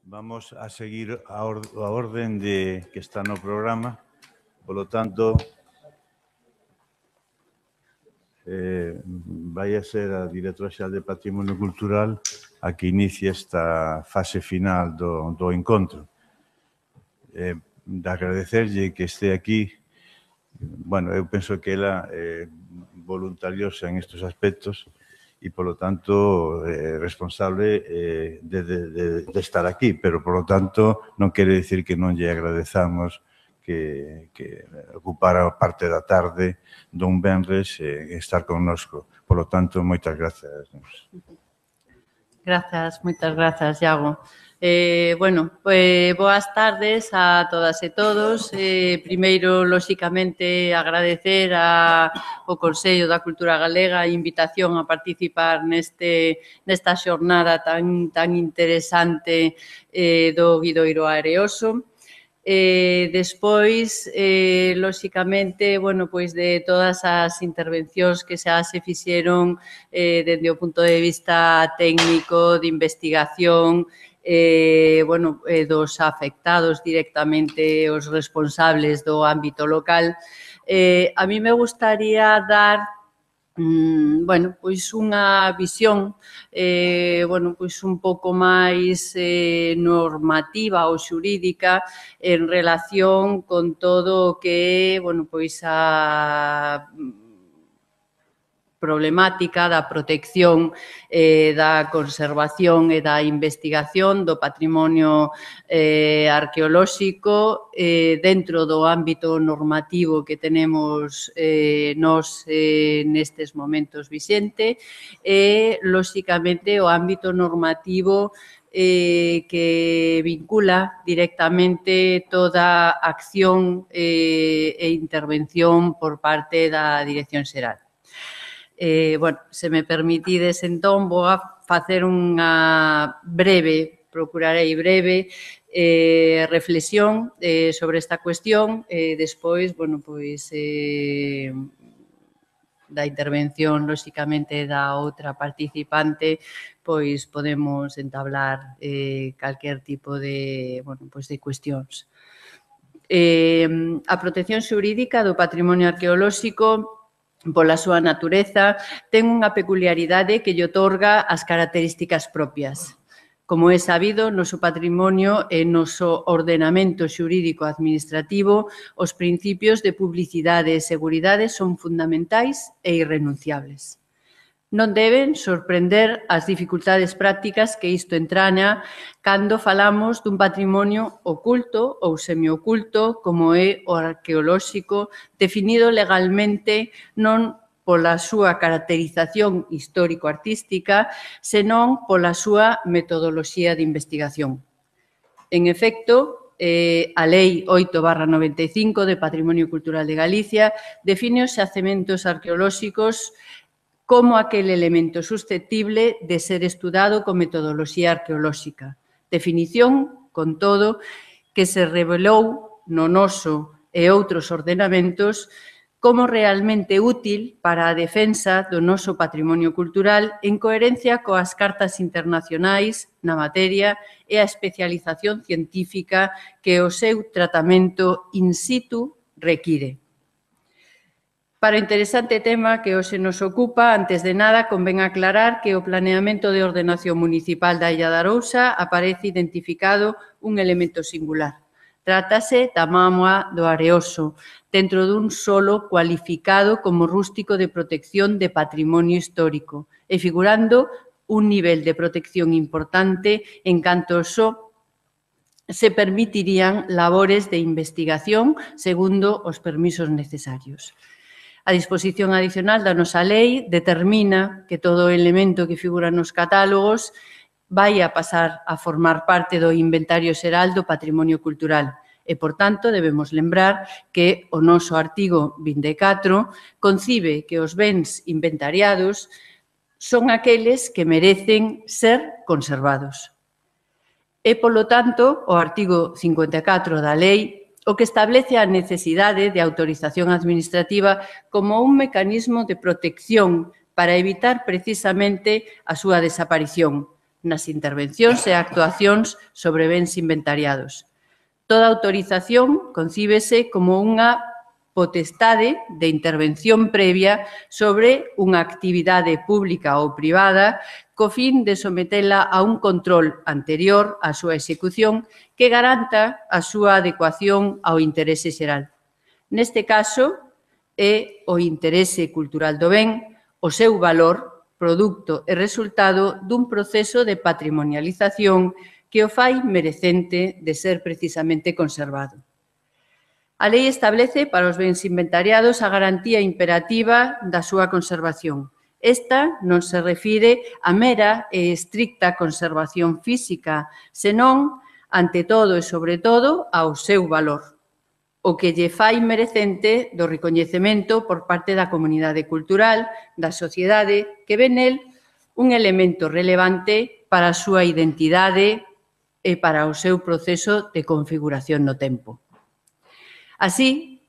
Vamos a seguir a orden que está no programa. Polo tanto, vai a ser a Directora Xeral de Patrimonio Cultural a que inicie esta fase final do encontro. De agradecerlle que este aquí. Bueno, eu penso que ela é voluntariosa en estes aspectos e, polo tanto, responsable de estar aquí, pero, polo tanto, non quere dicir que non lle agradezamos que ocupara parte da tarde dun venres e estar connosco. Polo tanto, moitas grazas. Grazas, moitas grazas, Iago. Boas tardes a todas e todos. Primeiro, lóxicamente, agradecer ao Consello da Cultura Galega a invitación a participar nesta xornada tan interesante do Guidoiro Areoso. Despois, lóxicamente, de todas as intervencións que xa se fixeron dende o punto de vista técnico, de investigación, dos afectados directamente, os responsables do ámbito local, a mí me gustaría dar unha visión un pouco máis normativa ou xurídica en relación con todo o que a problemática da protección, da conservación e da investigación do patrimonio arqueolóxico dentro do ámbito normativo que tenemos nós nestes momentos vixente e, lóxicamente, o ámbito normativo que vincula directamente toda acción e intervención por parte da Dirección Xeral. Se me permitides, entón, vou a facer unha procurarei breve reflexión sobre esta cuestión e despois, da intervención, lóxicamente, da outra participante, podemos entablar calquer tipo de cuestións. A protección xurídica do patrimonio arqueolóxico, pola súa natureza, ten unha peculiaridade que lle outorga as características propias. Como é sabido, noso patrimonio e noso ordenamento xurídico administrativo, os principios de publicidade e seguridade son fundamentais e irrenunciables. Non deben sorprender as dificultades prácticas que isto entraña cando falamos dun patrimonio oculto ou semioculto como é o arqueolóxico, definido legalmente non pola súa caracterización histórico-artística, senón pola súa metodoloxía de investigación. En efecto, a Lei 8/95 de Patrimonio Cultural de Galicia define os xacementos arqueolóxicos como aquel elemento susceptible de ser estudado con metodoloxía arqueolóxica. Definición, con todo, que se revelou no noso e outros ordenamentos como realmente útil para a defensa do noso patrimonio cultural en coherencia coas cartas internacionais na materia e a especialización científica que o seu tratamento in situ require. Para o interesante tema que hoxe nos ocupa, antes de nada, convén aclarar que o planeamento de ordenación municipal da Illa de Arousa aparece identificado un elemento singular. Trátase da mámoa do Areoso, dentro dun solo cualificado como rústico de protección de patrimonio histórico e figurando un nivel de protección importante en canto só se permitirían labores de investigación segundo os permisos necesarios. A disposición adicional da nosa lei determina que todo elemento que figura nos catálogos vai a pasar a formar parte do inventario xeral do patrimonio cultural e, por tanto, debemos lembrar que o noso artigo 24 concibe que os bens inventariados son aqueles que merecen ser conservados. E, polo tanto, o artigo 54 da lei o que establece a necesidade de autorización administrativa como un mecanismo de protección para evitar precisamente a súa desaparición, nas intervencións e actuacións sobre bens inventariados. Toda autorización concíbese como unha potestade de intervención previa sobre unha actividade pública ou privada co fin de sometela a un control anterior á súa execución que garanta a súa adecuación ao interese xeral. Neste caso, é o interese cultural do ben, o seu valor, produto e resultado dun proceso de patrimonialización que o fai merecente de ser precisamente conservado. A lei establece para os bens inventariados a garantía imperativa da súa conservación. Esta non se refire a mera e estricta conservación física, senón, ante todo e sobre todo, ao seu valor, o que lle fai merecente do recoñecemento por parte da comunidade cultural, da sociedade, que ve nel un elemento relevante para a súa identidade e para o seu proceso de configuración no tempo. Así,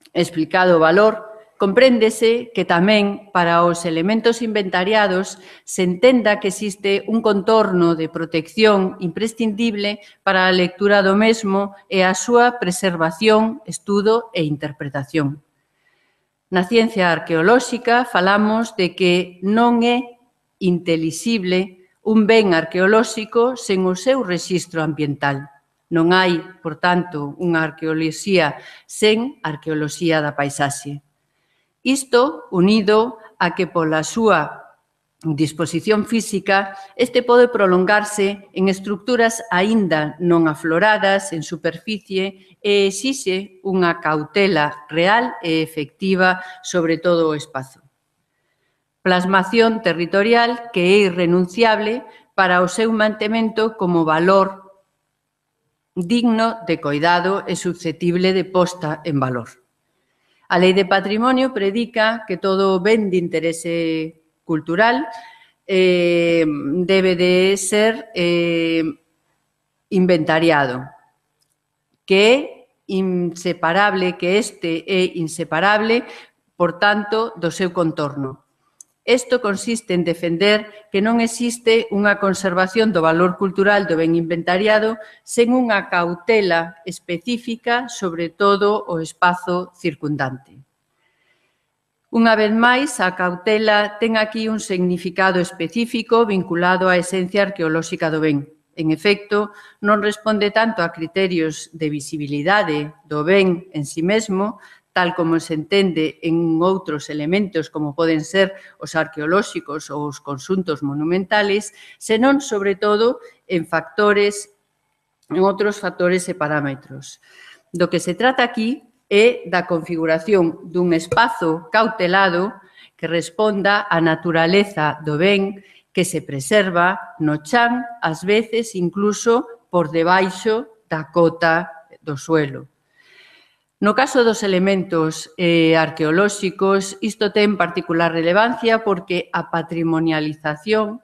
explicado o valor, compréndese que tamén para os elementos inventariados se entenda que existe un contorno de protección imprescindible para a lectura do mesmo e a súa preservación, estudo e interpretación. Na ciencia arqueolóxica falamos de que non é intelixible un ben arqueolóxico sen o seu rexistro ambiental. Non hai, por tanto, unha arqueoloxía sen arqueoloxía da paisaxe. Isto unido a que pola súa disposición física, este pode prolongarse en estructuras aínda non afloradas en superficie e exixe unha cautela real e efectiva sobre todo o espazo. Plasmación territorial que é irrenunciable para o seu mantemento como valor digno de coidado e susceptible de posta en valor. A Lei de Patrimonio predica que todo ben de interese cultural debe de ser inventariado, que é inseparable, que este é inseparable, por tanto, do seu contorno. Isto consiste en defender que non existe unha conservación do valor cultural do ben inventariado sen unha cautela específica sobre todo o espazo circundante. Unha vez máis, a cautela ten aquí un significado específico vinculado á esencia arqueolóxica do ben. En efecto, non responde tanto a criterios de visibilidade do ben en si mesmo, tal como se entende en outros elementos como poden ser os arqueolóxicos ou os conxuntos monumentales, senón, sobre todo, en outros factores e parámetros. Do que se trata aquí é da configuración dun espazo cautelado que responda á naturaleza do ben que se preserva no chan, ás veces incluso por debaixo da cota do suelo. No caso dos elementos arqueolóxicos, isto ten particular relevancia porque a patrimonialización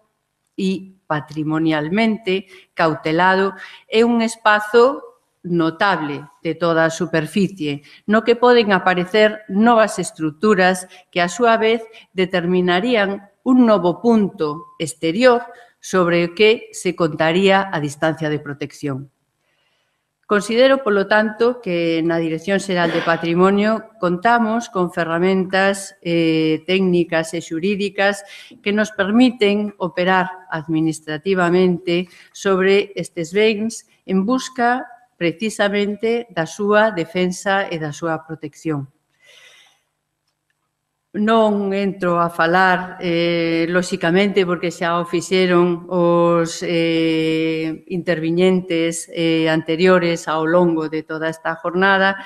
e patrimonialmente cautelado é un espazo notable de toda a superficie, no que poden aparecer novas estruturas que, a súa vez, determinarían un novo punto exterior sobre o que se contaría a distancia de protección. Considero, polo tanto, que na Dirección Xeral de Patrimonio contamos con ferramentas técnicas e xurídicas que nos permiten operar administrativamente sobre estes bens en busca precisamente da súa defensa e da súa protección. Non entro a falar, lóxicamente, porque xa o fixeron os interviñentes anteriores ao longo de toda esta jornada,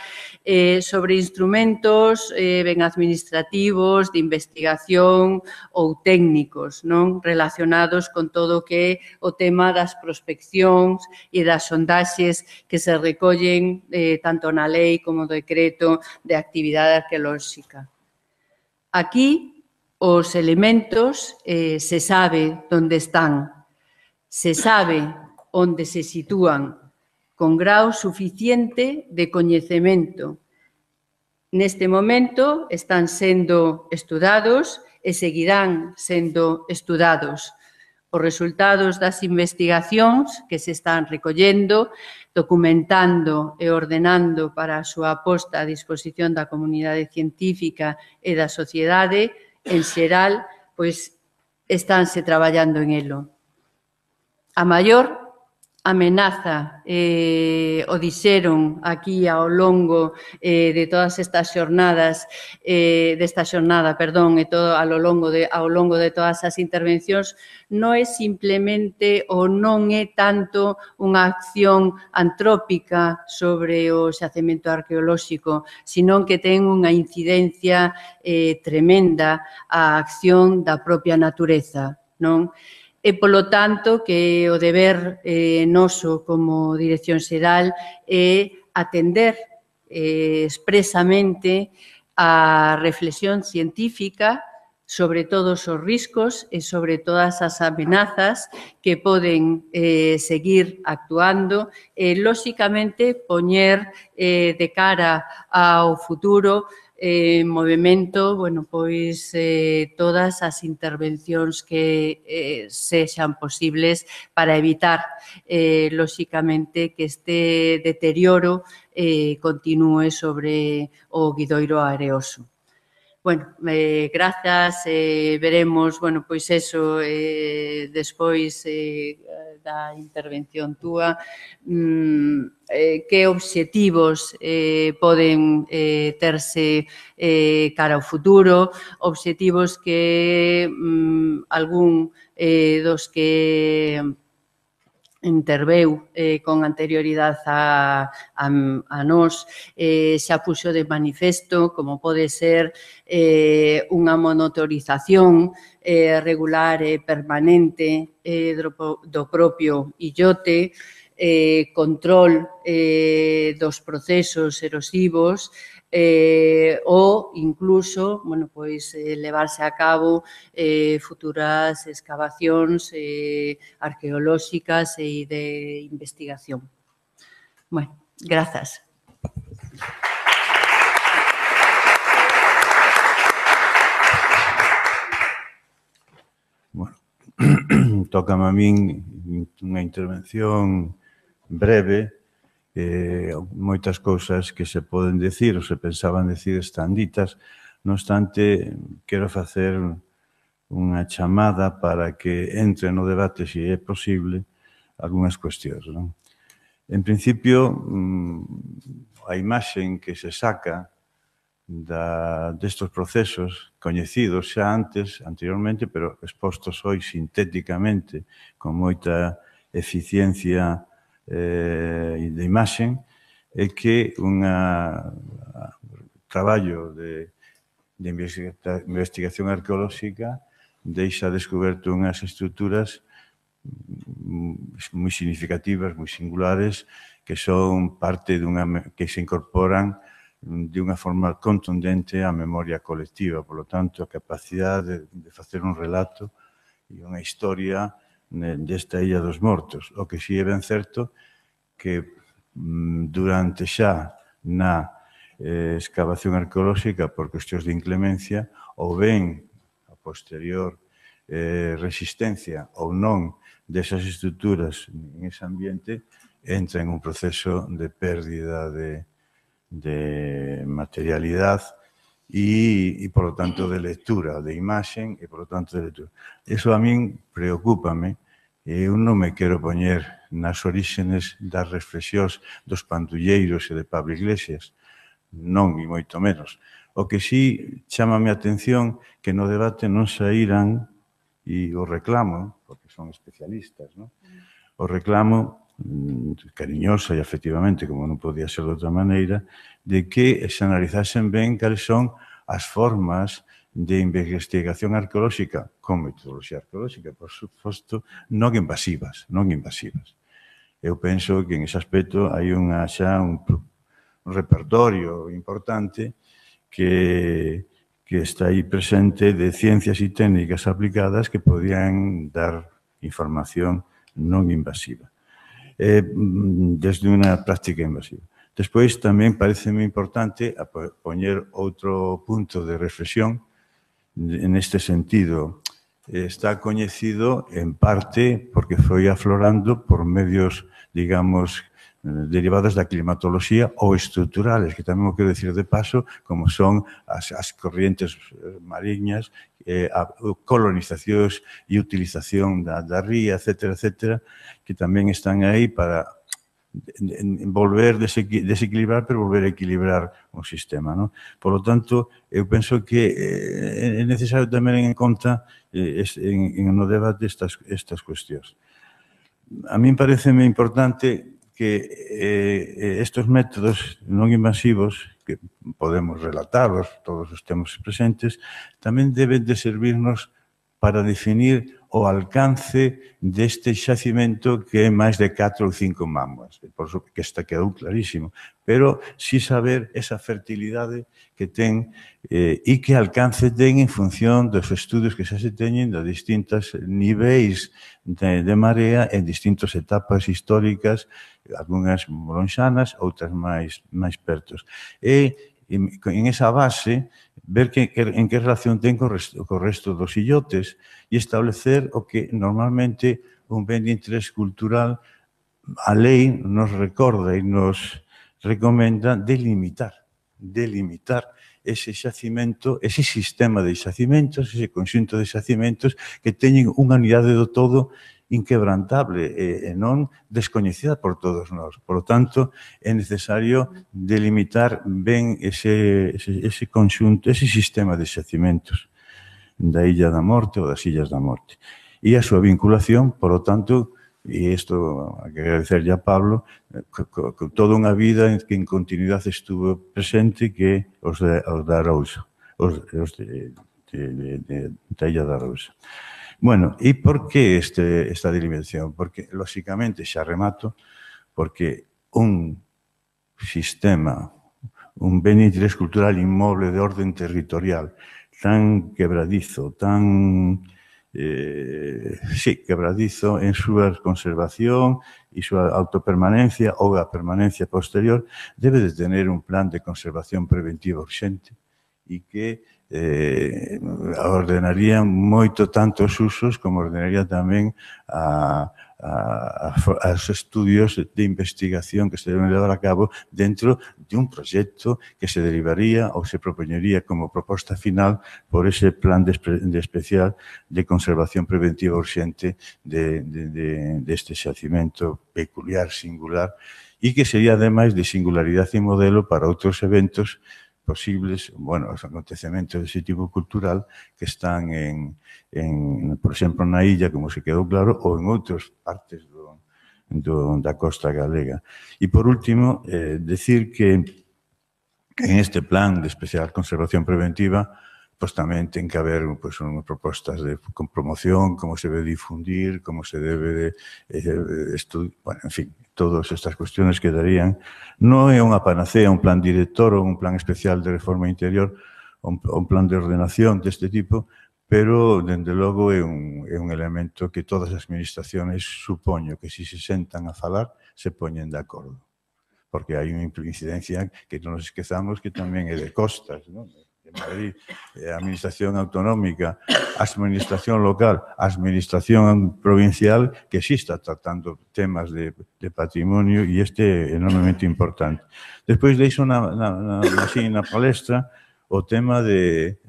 sobre instrumentos ben administrativos, de investigación ou técnicos, non relacionados con todo o que é o tema das prospeccións e das sondaxes que se recollen tanto na lei como no decreto de actividade arqueolóxica. Aquí, os elementos se sabe onde están, se sabe onde se sitúan, con grau suficiente de coñecemento. Neste momento están sendo estudados e seguirán sendo estudados. os resultados das investigacións que se están recollendo, documentando e ordenando para a súa posta a disposición da comunidade científica e da sociedade, en xeral, pois, estánse traballando en elo. A maior amenaza, o dixeron aquí ao longo de todas estas xornadas, desta xornada, perdón, e todo ao longo de todas as intervencións, non é simplemente ou non é tanto unha acción antrópica sobre o xacemento arqueolóxico, sino que ten unha incidencia tremenda á acción da propia natureza, non? E, polo tanto, que o deber noso como Dirección Xeral é atender expresamente a reflexión científica sobre todos os riscos e sobre todas as amenazas que poden seguir actuando e, lóxicamente, poñer de cara ao futuro movimento, pois todas as intervencións que sexan posibles para evitar, lóxicamente, que este deterioro continúe sobre o guidoiro areoso. Grazas, veremos, pois eso, despois da intervención túa, que obxectivos poden terse cara ao futuro, obxectivos que algún dos que interveu con anterioridade a nós, xa puxo de manifesto, como pode ser unha monitorización regular e permanente do propio illote, control dos procesos erosivos, ou incluso, levarse a cabo futuras excavacións arqueolóxicas e de investigación. Grazas. Tócame a min unha intervención breve. Moitas cousas que se poden decir ou se pensaban decir están ditas. Non obstante, quero facer unha chamada para que entre no debate, se é posible, algunhas cuestións. En principio, a imaxe que se saca destes procesos coñecidos xa anteriormente, pero expostos hoxe sintéticamente, con moita eficiencia de imaxe, é que un traballo de investigación arqueolóxica deixa descoberto unhas estruturas moi significativas, moi singulares, que son parte que se incorporan de unha forma contundente á memoria colectiva. Por lo tanto, a capacidade de facer un relato e unha historia desta Illa dos Mortos. O que si é ben certo que durante xa na excavación arqueolóxica por cuestións de inclemencia ou ben a posterior resistencia ou non desas estruturas en ese ambiente entra en un proceso de pérdida de materialidade e, por lo tanto, de lectura, de imaxen e, por lo tanto, de lectura. Eso a min preocúpame. Eu non me quero poñer nas orígenes das reflexións dos pandulleiros e de Pablo Iglesias. Non, e moito menos. O que sí chámame a atención que no debate non saíran, e o reclamo, porque son especialistas, o reclamo cariñosa e efectivamente, como non podía ser de outra maneira, de que se analizasen ben cales son as formas de investigación arqueolóxica con metodoloxía arqueolóxica, por suposto, non invasivas. Eu penso que en ese aspecto hai xa un repertorio importante que está aí presente de ciencias e técnicas aplicadas que podían dar información non invasiva, desde unha práctica invasiva. Despois, tamén pareceme importante poñer outro punto de reflexión neste sentido. está coñecido en parte porque foi aflorando por medios, digamos, derivados da climatoloxía ou estruturales, que tamén o quero decir de paso, como son as corrientes mariñas, a colonizacións e utilización da ría, etcétera, que tamén están aí para volver desequilibrar, pero volver a equilibrar o sistema, non? Por lo tanto, eu penso que é necesario tamén en conta no debate estas cuestións. A min pareceme importante que estes métodos non invasivos, que podemos relatarlos, todos os temos presentes, tamén deben de servirnos para definir o alcance deste xacimento que é máis de 4 ou 5 mamas. Por iso que esta quedou clarísimo. Pero si saber esa fertilidade que ten e que alcance ten en función dos estudios que xa se teñen de distintos niveis de marea en distintas etapas históricas, algunhas lonxanas, outras máis pertos. E en esa base, ver en que relación ten co resto dos illotes e establecer o que normalmente un ben de interés cultural a lei nos recorda e nos recomenda delimitar ese xacimento, ese sistema de xacimentos, ese conxunto de xacimentos que teñen unha unidade do todo inquebrantable e non descoñecida por todos nós. Por lo tanto, é necesario delimitar ben ese conxunto, ese sistema de xacimentos da Illa da Morte ou das Illas da Morte. E a súa vinculación, por lo tanto, e isto hai que agradecerlle a Pablo, toda unha vida en que en continuidade estuvo presente que os da Arousa, os da Illa da Arousa. Bueno, e por que esta delimitación? Porque, lóxicamente, xa remato, porque un sistema, un ben de interés cultural inmoble de orden territorial tan quebradizo, tan quebradizo en súa conservación e súa autopermanencia ou a permanencia posterior, debe de tener un plan de conservación preventiva urxente e que ordenaría moito tanto os usos como ordenaría tamén os estudios de investigación que se deben levar a cabo dentro de un proxecto que se derivaría ou se propoñería como proposta final por ese plan de especial de conservación preventiva urxente deste xacimento peculiar, singular, e que sería, ademais, de singularidade e modelo para outros eventos posibles, bueno, os acontecementos dese tipo cultural que están por exemplo, na illa, como se quedou claro, ou en outras partes da costa galega. E, por último, decir que en este plan de especial conservación preventiva, pois tamén ten que haber unhas propostas de promoción, como se debe difundir, como se debe estudiar, bueno, en fin, todas estas cuestiones quedarían. Non é unha panacea, un plan director ou un plan especial de reforma interior, un plan de ordenación deste tipo, pero, dende logo, é un elemento que todas as administraciones supoño que, se sentan a falar, se poñen de acordo. Porque hai unha incidencia que non nos esquezamos que tamén é de costas, non? De Madrid, a administración autonómica, a administración local, a administración provincial, que sí está tratando temas de patrimonio e este é enormemente importante. Despois deixo na palestra o tema de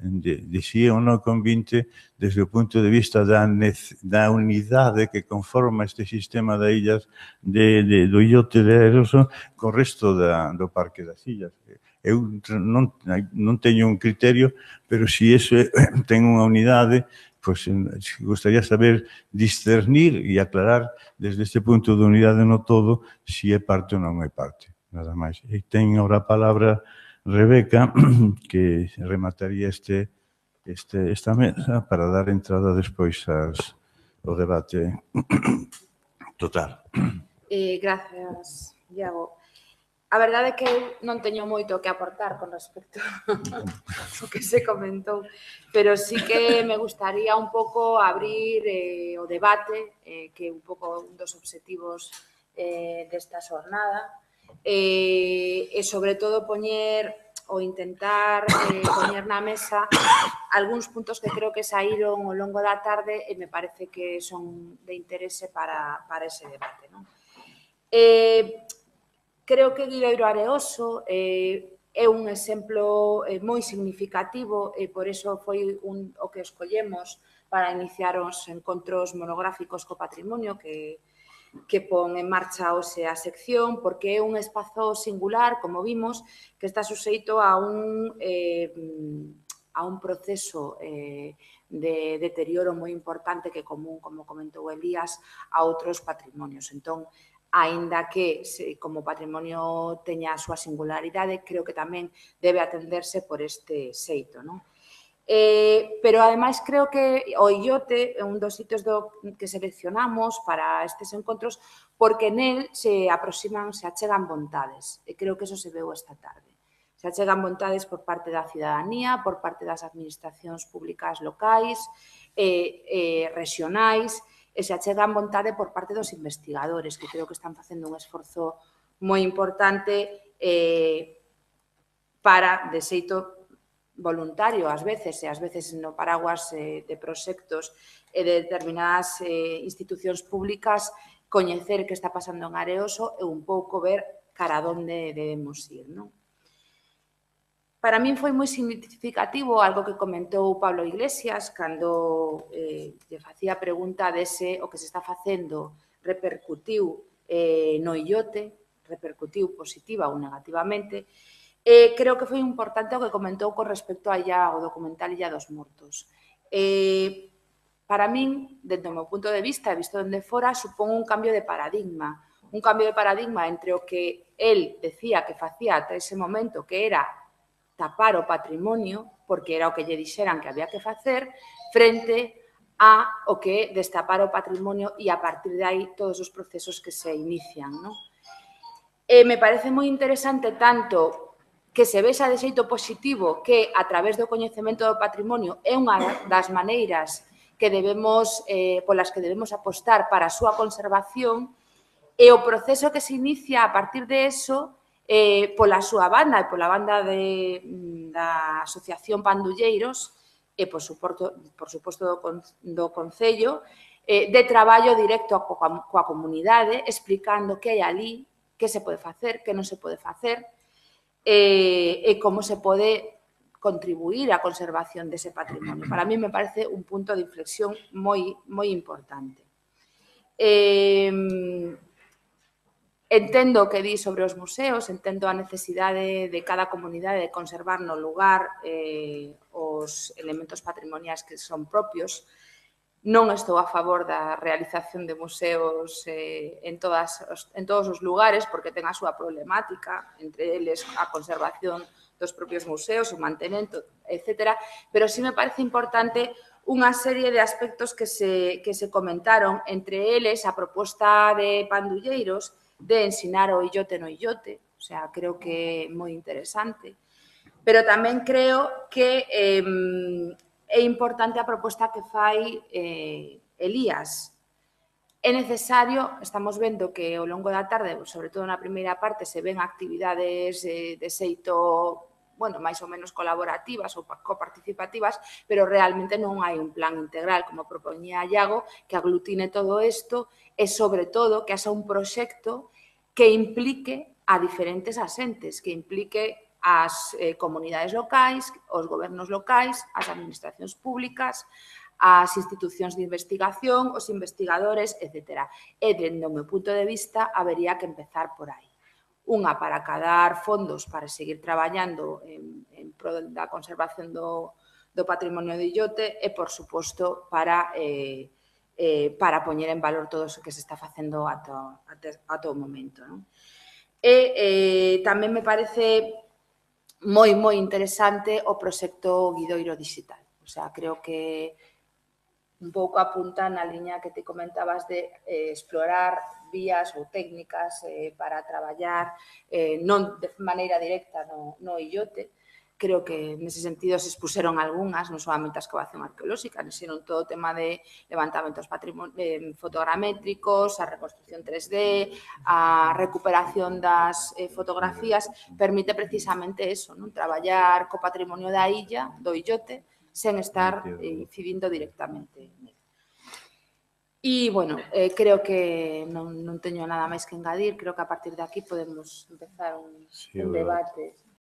si ou non convinte desde o punto de vista da unidade que conforma este sistema de illas do illote de Eroso co resto do Parque das Illas. Eu non teño un criterio, pero se iso ten unha unidade, pois gostaría saber discernir e aclarar desde este punto de unidade no todo se é parte ou non é parte. Nada máis. E ten ahora a palabra Rebeca, que remataría esta mesa para dar entrada despois ao debate total. Gracias, Iago. A verdade é que eu non teño moito que aportar con respecto ao que se comentou, pero sí que me gustaría un pouco abrir o debate, que é un pouco un dos obxectivos desta xornada, e sobre todo poñer o intentar poñer na mesa algúns puntos que creo que saíron ao longo da tarde e me parece que son de interese para ese debate. Creo que Guidoiro Areoso é un exemplo moi significativo e por iso foi o que escollemos para iniciar os encontros monográficos co patrimonio que pon en marcha hoxe a sección, porque é un espazo singular, como vimos, que está suxeito a un proceso de deterioro moi importante que é común, como comentou Elías, a outros patrimonios. Entón, aínda que como patrimonio teña a súa singularidade, creo que tamén debe atenderse por este xeito, non? Pero, ademais, creo que o Illote é un dos sitios que seleccionamos para estes encontros porque nel se aproximan, se achegan vontades. E creo que eso se veu esta tarde. Se achegan vontades por parte da cidadanía, por parte das administracións públicas locais, regionais, e se achegan vontade por parte dos investigadores, que creo que están facendo un esforzo moi importante para, de xeito voluntario, ás veces, e ás veces no paraguas de proxectos e de determinadas institucións públicas, coñecer que está pasando en Areoso e un pouco ver cara a onde debemos ir. Para min foi moi significativo algo que comentou Pablo Iglesias cando lle facía a pregunta dese o que se está facendo repercutiu no Illote, repercutiu positiva ou negativamente. Creo que foi importante o que comentou con respecto ao documental Illa dos Mortos. Para min, dentro do meu punto de vista, visto dende fora, supón un cambio de paradigma. Un cambio de paradigma entre o que el decía que facía ata ese momento, que era tapar o patrimonio, porque era o que lle dixeran que había que facer, frente a o que destapar o patrimonio e a partir de aí todos os procesos que se inician. Me parece moi interesante tanto que se vexa de xeito positivo que a través do coñecemento do patrimonio é unha das maneiras que polas que debemos apostar para a súa conservación e o proceso que se inicia a partir de eso pola súa banda e pola banda da Asociación Pandulleiros e, por suposto, do Concello, de traballo directo coa comunidade, explicando que hai ali, que se pode facer, que non se pode facer, e como se pode contribuir á conservación dese patrimonio. Para mí me parece un punto de inflexión moi importante. Entendo o que di sobre os museos, entendo a necesidade de cada comunidade de conservar no lugar os elementos patrimoniais que son propios. Non estou a favor da realización de museos en todos os lugares, porque ten a súa problemática, entre eles a conservación dos propios museos, o mantemento, etc. Pero sí me parece importante unha serie de aspectos que se comentaron, entre eles a proposta de Pandulleiros de ensinar o illote no illote, o sea, creo que é moi interesante. Pero tamén creo que é importante a proposta que fai Elías. É necesario, estamos vendo que ao longo da tarde, sobre todo na primeira parte, se ven actividades de xeito, máis ou menos colaborativas ou coparticipativas, pero realmente non hai un plan integral, como propoñía Iago, que aglutine todo isto e, sobre todo, que haxa un proxecto que implique a diferentes asentes, que implique as comunidades locais, os gobernos locais, as administracións públicas, as institucións de investigación, os investigadores, etc. E, dende o meu punto de vista, habería que empezar por aí. Unha para acadar fondos para seguir traballando en pro da conservación do patrimonio de illote e, por suposto, para poñer en valor todo o que se está facendo ata o momento. E tamén me parece moi interesante o proxecto Guidoiro Digital. O sea, creo que un pouco apunta na liña que te comentabas de explorar vías ou técnicas para traballar non de maneira directa no illote, creo que nese sentido se expuseron algunhas, non solamente a excavación arqueolóxica, sino todo o tema de levantamentos fotogramétricos, a reconstrucción 3D, a recuperación das fotografías, permite precisamente eso, non? Traballar co patrimonio da illa, do illote, sen estar incidindo directamente. E, bueno, creo que non teño nada máis que engadir, creo que a partir de aquí podemos empezar un debate.